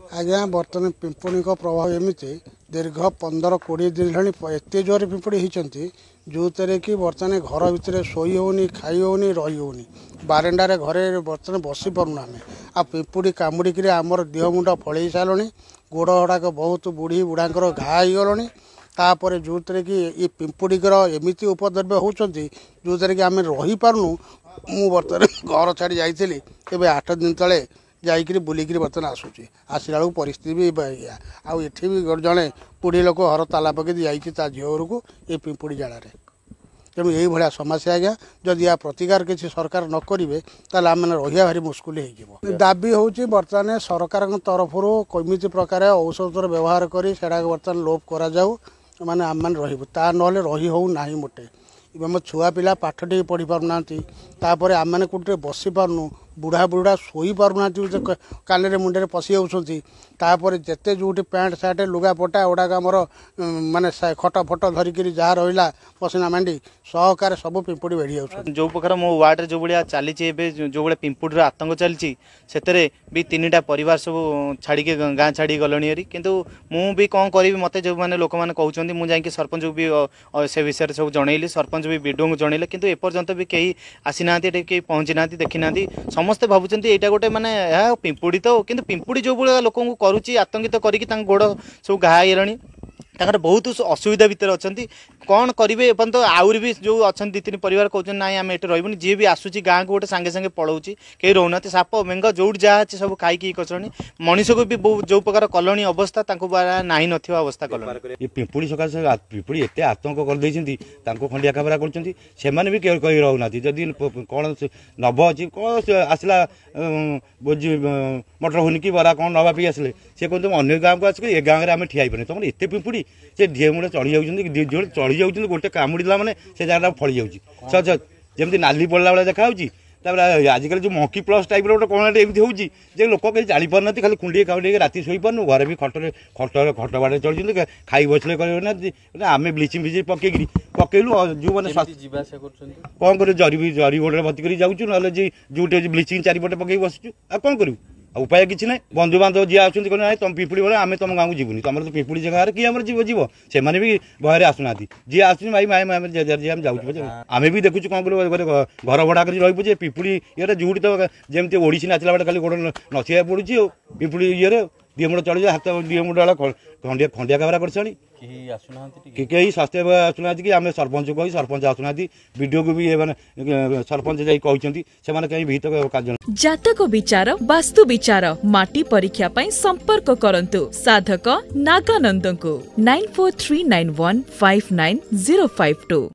ଆଜ୍ଞା, ବର୍ତ୍ତମାନ ପିମ୍ପୁଡ଼ିଙ୍କ ପ୍ରଭାବ ଏମିତି ଦୀର୍ଘ 15-20 ଦିନ ହେଲାଣି ଏତେ ଜୋରରେ ପିମ୍ପୁଡ଼ି ହେଇଛନ୍ତି, ଯେଉଁଥିରେ କି ବର୍ତ୍ତମାନ ଘର ଭିତରେ ଶୋଇ ହେଉନି, ଖାଇ ହେଉନି, ରହି ହେଉନି, ବାରଣ୍ଡାରେ ଘରେ ବର୍ତ୍ତମାନ ବସି ପାରୁନୁ ଆମେ। ଆଉ ପିମ୍ପୁଡ଼ି କାମୁଡ଼ିକିରି ଆମର ଦେହ ମୁଣ୍ଡ ଫଳେଇ ସାରିଲଣି, ଗୋଡ଼ ଗୁଡ଼ାକ ବହୁତ ବୁଢ଼ୀ ବୁଢ଼ାଙ୍କର ଘା ହେଇଗଲଣି। ତାପରେ ଯେଉଁଥିରେ କି ଏ ପିମ୍ପୁଡ଼ିଙ୍କର ଏମିତି ଉପଦ୍ରବ୍ୟ ହେଉଛନ୍ତି, ଯେଉଁଥିରେ କି ଆମେ ରହିପାରୁନୁ। ମୁଁ ବର୍ତ୍ତମାନ ଘର ଛାଡ଼ି ଯାଇଥିଲି ଏବେ 8 ଦିନ ତଳେ, ଯାଇକିରି ବୁଲିକିରି ବର୍ତ୍ତମାନ ଆସୁଛି। ଆସିଲା ବେଳକୁ ପରିସ୍ଥିତି ବି ଏଇଆ। ଆଉ ଏଠି ବି ଜଣେ ବୁଢ଼ୀ ଲୋକ ଘର ତାଲା ପକେଇ ଯାଇଛି ତା ଝିଅ ଘରକୁ ଏ ପିମ୍ପୁଡ଼ି ଜାଳାରେ। ତେଣୁ ଏଇଭଳିଆ ସମସ୍ୟା ଆଜ୍ଞା, ଯଦି ୟା ପ୍ରତିକାର କିଛି ସରକାର ନ କରିବେ, ତାହେଲେ ଆମେ ରହିବା ଭାରି ମୁସ୍କିଲ ହେଇଯିବ। ଦାବି ହେଉଛି ବର୍ତ୍ତମାନ ସରକାରଙ୍କ ତରଫରୁ କେମିତି ପ୍ରକାର ଔଷଧର ବ୍ୟବହାର କରି ସେଟାକୁ ବର୍ତ୍ତମାନ ଲୋପ କରାଯାଉ, ମାନେ ଆମେମାନେ ରହିବୁ, ତା ନହେଲେ ରହି ହେଉ ନାହିଁ ମୋଟେ। ଆମ ଛୁଆ ପିଲା ପାଠ ଟିକେ ପଢ଼ି ପାରୁନାହାନ୍ତି। ତାପରେ ଆମେମାନେ କେଉଁଠି ଟିକେ ବସି ପାରୁନୁ, ବୁଢ଼ା ବୁଢ଼ା ଶୋଇ ପାରୁନାହାନ୍ତି, କାନରେ ମୁଣ୍ଡରେ ପଶି ଯାଉଛନ୍ତି। ତାପରେ ଯେତେ ଯେଉଁଠି ପ୍ୟାଣ୍ଟ ସାର୍ଟ ଲୁଗାପଟା ଗୁଡ଼ାକ ଆମର, ମାନେ ଖଟ ଫଟ ଧରିକିରି ଯାହା ରହିଲା ପସିନା ମାଣ୍ଡି ସହକାରେ ସବୁ ପିମ୍ପୁଡ଼ି ବେଢ଼ି ଯାଉଛନ୍ତି। ଯେଉଁ ପ୍ରକାର ମୋ ୱାର୍ଡ଼ରେ ଯେଉଁ ଭଳିଆ ଚାଲିଛି ଏବେ, ଯେଉଁ ଭଳିଆ ପିମ୍ପୁଡ଼ିର ଆତଙ୍କ ଚାଲିଛି, ସେଥିରେ ବି 3ଟା ପରିବାର ସବୁ ଛାଡ଼ିକି ଗାଁ ଛାଡ଼ିକି ଗଲେଣି ହେରି। କିନ୍ତୁ ମୁଁ ବି କ'ଣ କରିବି? ମୋତେ ଯେଉଁମାନେ ଲୋକମାନେ କହୁଛନ୍ତି, ମୁଁ ଯାଇକି ସରପଞ୍ଚକୁ ବି ସେ ବିଷୟରେ ସବୁ ଜଣେଇଲି, ସରପଞ୍ଚ ବି ବିଡ଼ିଓଙ୍କୁ ଜଣେଇଲେ, କିନ୍ତୁ ଏପର୍ଯ୍ୟନ୍ତ ବି କେହି ଆସିନାହାନ୍ତି, ଏଠି କେହି ପହଞ୍ଚି ନାହାନ୍ତି, ଦେଖିନାହାନ୍ତି। ସମସ୍ତେ ଭାବୁଛନ୍ତି ଏଇଟା ଗୋଟେ ମାନେ ଏହା ପିମ୍ପୁଡ଼ି ତ, କିନ୍ତୁ ପିମ୍ପୁଡ଼ି ଯେଉଁ ଭଳିଆ ଲୋକଙ୍କୁ କରୁଛି ଆତଙ୍କିତ କରିକି, ତାଙ୍କ ଗୋଡ଼ ସବୁ ଘା ହେଇଗଲାଣି, ତାଙ୍କର ବହୁତ ଅସୁବିଧା ଭିତରେ ଅଛନ୍ତି, କ'ଣ କରିବେ ଏପର୍ଯ୍ୟନ୍ତ? ଆହୁରି ବି ଯେଉଁ ଅଛନ୍ତି 2-3 ପରିବାର କହୁଛନ୍ତି ନାଇଁ ଆମେ ଏଠି ରହିବୁନି। ଯିଏ ବି ଆସୁଛି ଗାଁକୁ ଗୋଟେ ସାଙ୍ଗେ ସାଙ୍ଗେ ପଳାଉଛି, କେହି ରହୁନାହାନ୍ତି। ସାପ ବେଙ୍ଗ ଯେଉଁଠି ଯାହା ଅଛି ସବୁ ଖାଇକି କରୁଛନ୍ତି, ମଣିଷକୁ ବି ଯେଉଁ ପ୍ରକାର କଲଣି ଅବସ୍ଥା, ତାଙ୍କୁ ନାହିଁ ନଥିବା ଅବସ୍ଥା କଲଣି। ଏ ପିମ୍ପୁଡ଼ି ସକାଶେ ପିମ୍ପୁଡ଼ି ଏତେ ଆତଙ୍କ କରିଦେଇଛନ୍ତି, ତାଙ୍କୁ ଖଣ୍ଡିଆ ଖାବରା କରୁଛନ୍ତି, ସେମାନେ ବି କେହି କହି ରହୁନାହାନ୍ତି। ଯଦି କ'ଣ ନବ ଅଛି, କ'ଣ ଆସିଲା ଭୋଜି ମଟର ହୁନି କି ବରା କ'ଣ ନେବା ପାଇଁ ଆସିଲେ, ସେ କୁହନ୍ତି ଅନ୍ୟ ଗାଁକୁ ଆସିକି ଏ ଗାଁରେ ଆମେ ଠିଆ ହେଇପାରୁନି, ତମର ଏତେ ପିମ୍ପୁଡ଼ି। ସେ ଢିଏ ମୁଣ୍ଡ ଚଢ଼ି ଯାଉଛନ୍ତି, ଚଢ଼ି ଯାଉଛନ୍ତି, ଗୋଟେ କାମୁଡ଼ିଲା ମାନେ ସେ ଜାଗାଟା ଫଳି ଯାଉଛି, ଯେମିତି ନାଲି ପଡ଼ିଲା ଭଳିଆ ଦେଖାଯାଉଛି। ତାପରେ ଆଜିକାଲି ଯେଉଁ ମଙ୍କି ପ୍ଲସ୍ ଟାଇପ୍ର ଗୋଟେ କ'ଣ ଗୋଟେ ଏମିତି ହେଉଛି ଯେ ଲୋକ କେହି ଜାଣିପାରୁନାହାନ୍ତି। ଖାଲି କୁଣ୍ଡେଇ କାମୁଡ଼େଇକି ରାତି ଶୋଇପାରୁନୁ, ଘରେ ବି ଖଟରେ ଖଟ ଖଟ ବାଡ଼ରେ ଚଳୁଛନ୍ତି, ଖାଇ ବସିଲେ କରିବେ ନା। ଆମେ ବ୍ଲିଚିଂ ଫ୍ଲିଚିଂ ପକେଇକିରି ପକେଇଲୁ। ଯେଉଁମାନେ ଯିବା ଆସିବା କରୁଛନ୍ତି କ'ଣ କରିବୁ? ଜରି ବି ଜରି ଗୋଡ଼ରେ ଭର୍ତ୍ତି କରି ଯାଉଛୁ, ନହେଲେ ଯେ ଯେଉଁଠି ବ୍ଲିଚିଂ ଚାରିପଟେ ପକେଇକି ବସିଛୁ, ଆଉ କ'ଣ କରିବୁ? ଆଉ ଉପାୟ କିଛି ନାହିଁ। ବନ୍ଧୁବାନ୍ଧବ ଯିଏ ଆସୁଛନ୍ତି କହିଲେ ନାଇଁ ତମ ପିମ୍ପୁଡ଼ି ଭଳିଆ ଆମେ ତମ ଗାଁକୁ ଯିବୁନି, ତମର ତ ପିମ୍ପୁଡ଼ି ଜାଗାରେ କିଏ ଆମର ଯିବ ଯିବ? ସେମାନେ ବି ଭୟରେ ଆସୁନାହାନ୍ତି। ଯିଏ ଆସୁଛନ୍ତି ଭାଇ ଭାଇ ଆମେ ଯିଏ ଆମେ ଯାଉଛୁ, ଆମେ ବି ଦେଖୁଛୁ କ'ଣ କରିବୁ? ଘର ଭଡ଼ା କରି ରହିବୁ ଯେ ପିମ୍ପୁଡ଼ି ଇଏରେ ଯେଉଁଠି ତ ଯେମିତି ଓଡ଼ିଶୀ ନାଚିଲା ବେଳେ ଖାଲି ଗୋଡ଼ ନଚିବାକୁ ପଡ଼ୁଛି। ଆଉ ପିମ୍ପୁଡ଼ି ଇଏରେ ଦିହ ମୁଣ୍ଡ ଚଳିଯାଏ, ହାତ ଦିହ ମୁଣ୍ଡ ଖଣ୍ଡିଆ ଖଣ୍ଡିଆ ଖାବରା କରିସାରିଣି। କେହି ସ୍ୱାସ୍ଥ୍ୟ ଆସୁନାହାନ୍ତି କି ଆମେ ସରପଞ୍ଚ କହି ସରପଞ୍ଚ ଆସୁନାହାନ୍ତି, ବିଡ଼ିଓକୁ ବି ମାନେ ସରପଞ୍ଚ ଯାଇ କହିଛନ୍ତି, ସେମାନେ କାହିଁ ବିହିତ କାର୍ଯ୍ୟ। ଜାତକ ବିଚାର, ବାସ୍ତୁ ବିଚାର, ମାଟି ପରୀକ୍ଷା ପାଇଁ ସମ୍ପର୍କ କରନ୍ତୁ ସାଧକ ନାଗାନନ୍ଦଙ୍କୁ 9439159052।